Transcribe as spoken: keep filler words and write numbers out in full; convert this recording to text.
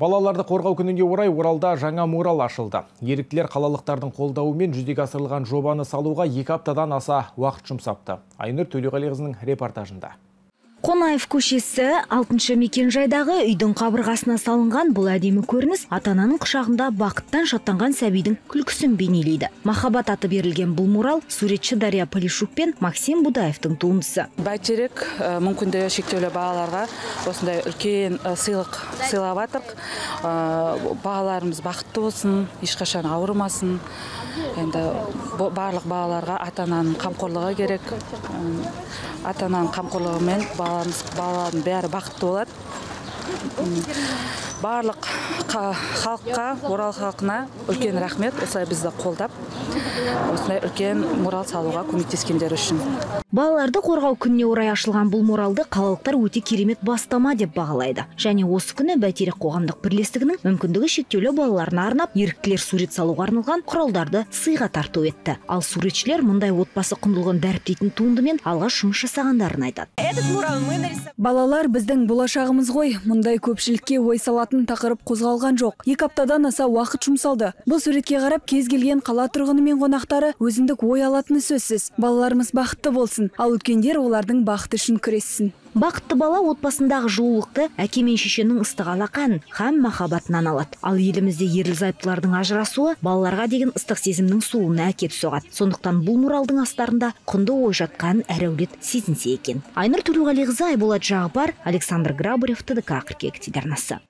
Балаларды қорғау күніне орай Оралда жаңа мурал ашылды. Еріктілер қалалықтардың қолдауымен жүзеге асырылған жобаны салуға екі аптадан аса уақыт жұмсапты. Айнұр Төлеғалиқызының репортажында. Қонаев көшесі алтыншы мекенжайдағы үйдің қабырғасына салынған бұл әдемі көрініс ата-ананың құшағында бақыттан шаттанған сәбидің күлкісін бейнелейді. Махаббат аты берілген бұл мурал суретші Дария Полишук пен Максим Будаевтың туындысы. Бәйтерек мүмкіндігі шектеулі балаларға осындай үлкен сыйлық сыйлап жатырық. Балаларымыз бақытты болсын, ешқашан ауырмасын. Енді барлық балаларға ата-ананың қамқорлығы керек. Ата-ананың қамқорлығымен балалардың бәрі бақытты болады. Барлық халыққа, Орал халқына үлкен рахмет, осылай бізді қолдап, осылай үлкен мурал салуға көмектескендер үшін. Балаларды қорғау күніне орай ашылған бұл муралды қалалықтар өте керемет бастама деп бағалайды. Және осы күні Бәйтерек қоғамдық бірлестігінің мүмкіндігі шектеулі балаларына арнап, еріктілер сурет салуға арналған құралдарды сыйға тарту етті. Ал суретшілер мұндай отбасы құндылығын дәріптейтін туындымен алғаш жұмыс жасағандарын айтады. Балалар біздің болашағымыз ғой. Мұндай көпшілікке ой салатын тақырып қозғалған жоқ. Екі аптадан аса уақыт жұмсалды. Бұл суретке қарап кез келген қала тұрғыны мен қонақтары өзіндік ой алатыны сөзсіз. Балаларымыз бақытты болсын, ал үлкендер олардың бақыты үшін күрессін. Бақытты бала отбасындағы жылулықты әке мен шешенің ыстық алақанын һәм махаббатынан алады. Ал елімізде ерлі-зайыптылардың ажырасуы балаларға деген ыстық сезімнің суына әкеп соғады. Сондықтан бұл муралдың астарында құнды ой жатқанын әр әулет сезінсе екен. Айнұр Төлеғалиқызы, Айболат Жағыпар, Александр Грабарев, Т Д К қырық екі телеарнасы.